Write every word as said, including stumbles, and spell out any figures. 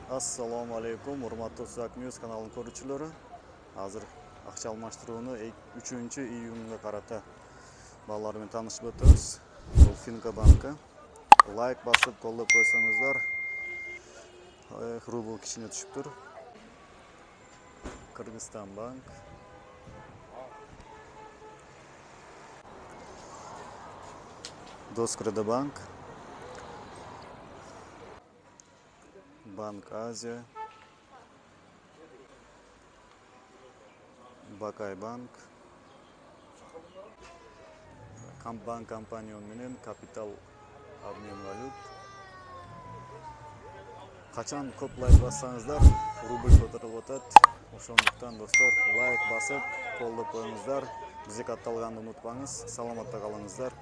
Assalamu alaikum, урматтуу Suzak News каналынын көрүүчүлөрү. Азыр акча алмаштырууну үчүнчү июнга карата балдар менен таанышып өтөбүз. Бул Finka банкы. Лайк басып, колдоп койсоңуздар, рубль кичине түшүптүр. Кыргызстан банк. Доскреда банк. Банк Азия. Бакай банк. Банк компания менен капитал обмен валют. Качан көп лайк бассаңыздар, рубль көтөрүлүп атат. Ошондуктан достор, лайк басып, колдоп коюңуздар. Бизге катталганды унутпаңыз. Саламатта калыңыздар.